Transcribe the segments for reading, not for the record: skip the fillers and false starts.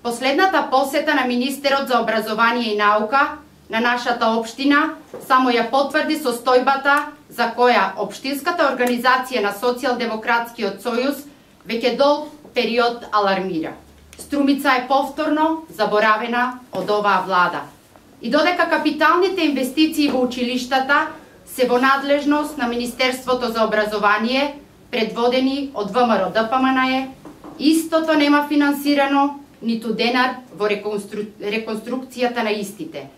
Последната посета на министерот за образование и наука на нашата општина само ја потврди состојбата за која општинската организација на Социјалдемократскиот сојуз веќе долг период алармира. Струмица е повторно заборавена од оваа влада. И додека капиталните инвестиции во училиштата се во надлежност на Министерството за образование, предводени од ВМРО ДПМНЕ, истото нема финансирано ниту денар во реконструкцијата на истите.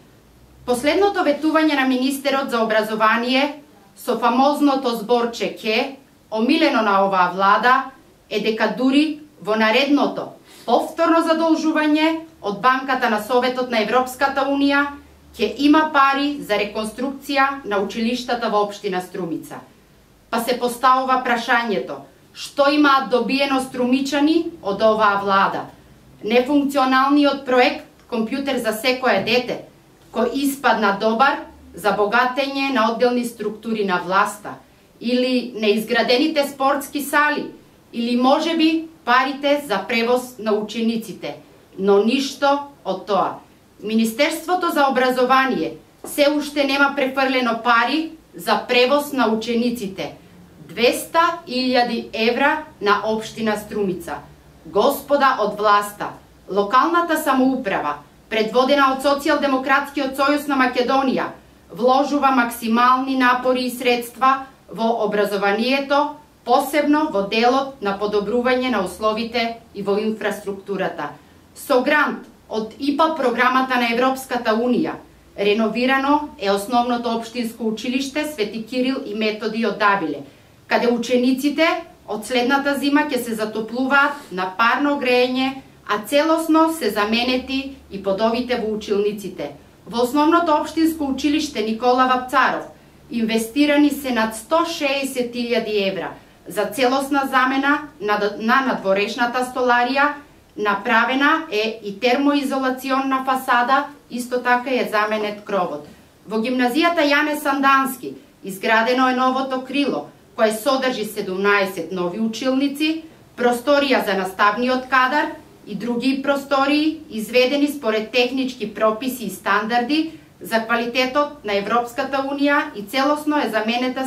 Последното ветување на министерот за образование со фамозното зборче ке, омилено на оваа влада, е дека дури во наредното повторно задолжување од Банката на Советот на Европската Унија ќе има пари за реконструкција на училиштата во општина Струмица. Па се поставува прашањето, што имаат добиено струмичани од оваа влада? Нефункционалниот проект Компјутер за секое дете, кој испадна добар за богатење на одделни структури на власта, или неизградените спортски сали, или можеби парите за превоз на учениците, но ништо од тоа. Министерството за образование се уште нема префрлено пари за превоз на учениците. 200.000 евра на општина Струмица. Господа од власта, локалната самоуправа, предводена од Социјалдемократскиот сојуз на Македонија, вложува максимални напори и средства во образованието, посебно во делот на подобрување на условите и во инфраструктурата. Со грант од ИПА програмата на Европската Унија, реновирано е основното општинско училиште Свети Кирил и Методи од Давиле, каде учениците од следната зима ќе се затоплуваат на парно греење, а целосно се заменети и подовите во училниците. Во основното општинско училиште Никола Вапцаров инвестирани се над 160.000 евра за целосна замена на надворешната столарија, направена е и термоизолационна фасада, исто така е заменет кровот. Во гимназијата Јане Сандански изградено е новото крило, кое содржи 17 нови училници, просторија за наставниот кадар и други простории, изведени според технички прописи и стандарди за квалитетот на Европската Унија и целосно е заменета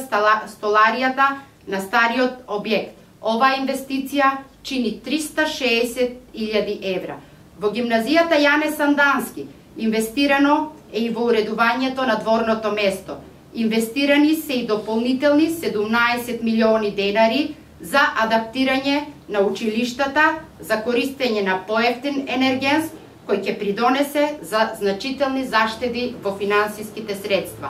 столаријата на стариот објект. Оваа инвестиција чини 360.000 евра. Во гимназијата Јане Сандански инвестирано е и во уредувањето на дворното место. Инвестирани се и дополнителни 17 милиони денари за адаптирање на училиштата, за користење на поевтин енергенс, кој ќе придонесе за значителни заштеди во финансиските средства.